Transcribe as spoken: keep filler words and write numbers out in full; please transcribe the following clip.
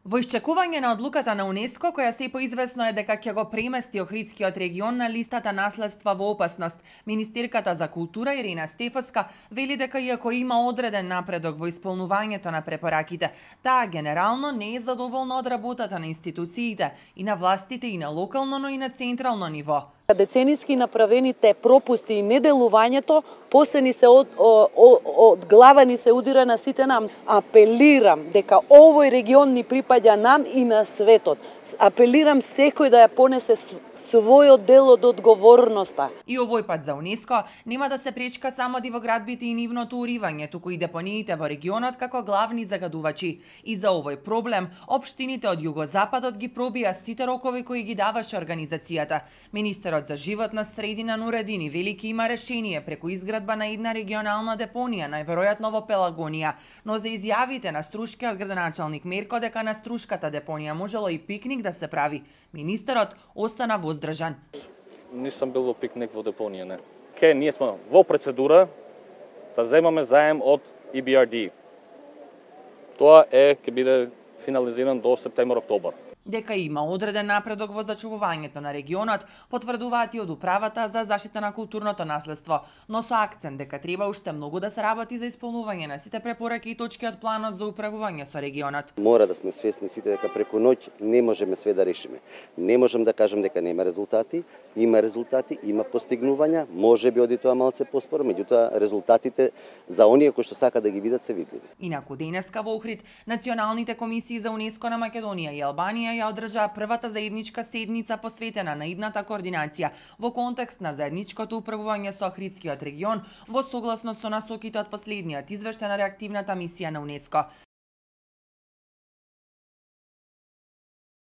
Во исчекување на одлуката на УНЕСКО, која се поизвестно е дека ќе го премести Охридскиот регион на листата наследства во опасност, министерката за култура Ирина Стефовска вели дека иако има одреден напредок во исполнувањето на препораките, таа генерално не е задоволна од работата на институциите и на властите и на локално, но и на централно ниво. Децениски направените пропусти и неделувањето после ни се од, од, од глава ни се удира на сите нам. Апелирам дека овој регион ни припаѓа нам и на светот. Апелирам секој да ја понесе својот дел од одговорноста. И овој пат за УНЕСКО нема да се пречка само дивоградбите и нивното уривање, туку и депониите во регионот како главни загадувачи. И за овој проблем општините од југозападот ги пробија сите рокови кои ги даваше организацијата. Министерот за животна средина Нуредини велики има решение преку изградба на една регионална депонија, најверојатно во Пелагонија, но за изјавите на струшкиот градоначалник Мерко дека на струшката депонија можело и пикник да се прави, министерот остана воздржан. Нисам бил во пикник во депонија, не. Ке, ние сме во процедура да земаме заем од И Б Р Д. Тоа е ќе биде финализиран до септември-октобар. Дека има одреден напредок во зачувувањето на регионот, потврдуваат и од Управата за заштита на културното наследство, но со акцент дека треба уште многу да се работи за исполнување на сите препораки и точки од планот за управување со регионот. Мора да сме свесни сите дека преку ноќ не можеме све да решиме. Не можам да кажам дека нема резултати, има резултати, има постигнувања, можеби оди тоа малце поспоро, меѓутоа резултатите за оние кои што сака да ги видат се видливи. Инаку денеска во Охрид националните комисии за УНЕСКО на Македонија и Албанија ја одржаа првата заедничка седница посветена на идната координација во контекст на заедничкото управување со Охридскиот регион во согласност со насоките од последниот извештај на реактивната мисија на УНЕСКО.